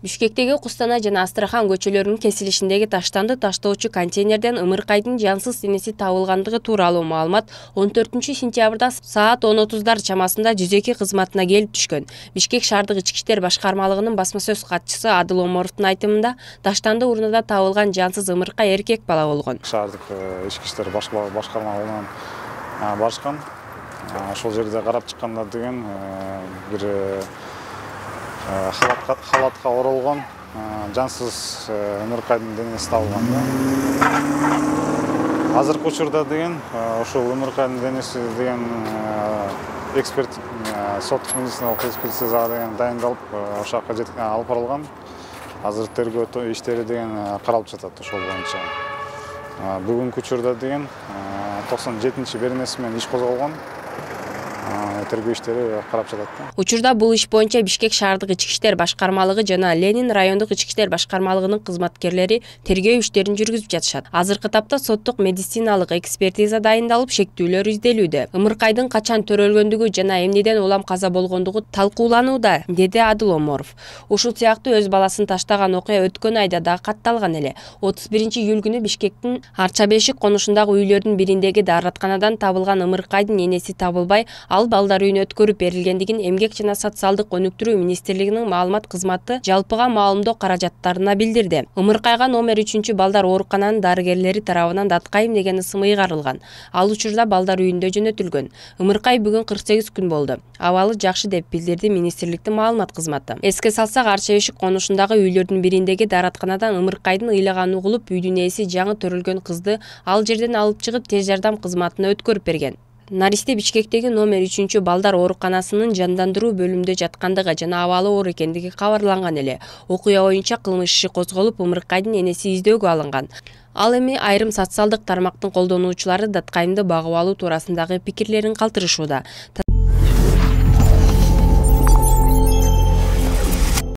Бишкектеги Кустанай жана Астрахан көчөлөрүнүн кесилишиндеги таштанды таштоочу контейнерден ымыркайдын жансыз денеси табылгандыгы тууралуу маалымат 14-сентябрда саат 10:30 чамасында 102 кызматына келип түшкөн. Бишкек шаардык ички иштер башкармалыгынын басма сөз катчысы Адыл Омаровдун айтымында таштанды урнада табылган жансыз ымыркай эркек бала болгон. Шаардык ички иштер башкармалыгынан барышкан. Ошол жерде карап чыкканда деген бир халатка оролгон жансыз ымыркайдын денеси табылган. Азыркы учурда деген ошол ымыркайдын денеси деген эксперт соттук медициналык экспертизага деген дайындалып, ошол жака алып барылган. Азыр тергөө иштери деген каралып жатат ошол боюнча. Бүгүнкү учурда деген 97-беренеси менен иш козголгон. Тергөө иштери карап жатат. Учурда бул иш боюнча Бишкек шаардык ички иштер башкармалыгы жана Ленин райондук ички иштер башкармалыгынын кызматкерлери тергөө иштерин жүргүзүп жатышат. Азыркы тапта соттук медициналык экспертиза дайындалып, шектүүлөр изделүүдө. Ымыркайдын качан төрөлгөндүгү жана эмнеден улам каза болгондугу талкууланууда, деди Адыл Омаров. Ушул сыяктуу өз баласын таштаган окуя өткөн айда да катталган эле. 31-июль күнү Бишкектин Арчабешик конушундагы үйлөрдүн бириндеги дааратканадан табылган ымыркайдын энеси табылбай, ал балдар үйүнө өткөрүп берилгендигин Эмгек жана социалдык өнүктүрүү министрлигинин маалымат кызматы жалпыга маалымдоо каражаттарына билдирди. Ымыркайга номер 3 балдар оорукананын дарыгерлери тарабынан даткайым деген ысым ыйгарылган. Ал учурда балдар үйүндө жөнөтүлгөн. Ымыркай бүгүн 48 күн болду. Абалы жакшы деп билдирди министрликтин маалымат кызматы. Эске салсак, Арчабешик конушундагы үйлөрдүн бириндеги дааратканадан ымыркайдын ыйлаганы угулуп, үйдүн ээси жаңы төрөлгөн кызды ал жерден алып чыгып тез жардам кызматына өткөрүп берген. Наристе Бишкектеги номер 3 балдар ооруканасынын жандандыруу бөлүмүндө жаткандыгы жана абалы оор экендиги кабарланган эле. Окуя боюнча кылмыш иши козголуп, ымыркайдын энеси издөөгө алынган. Ал эми айрым социалдык тармактын колдонуучулары даткайымды багып алуу туурасындагы пикирлерин калтырышууда.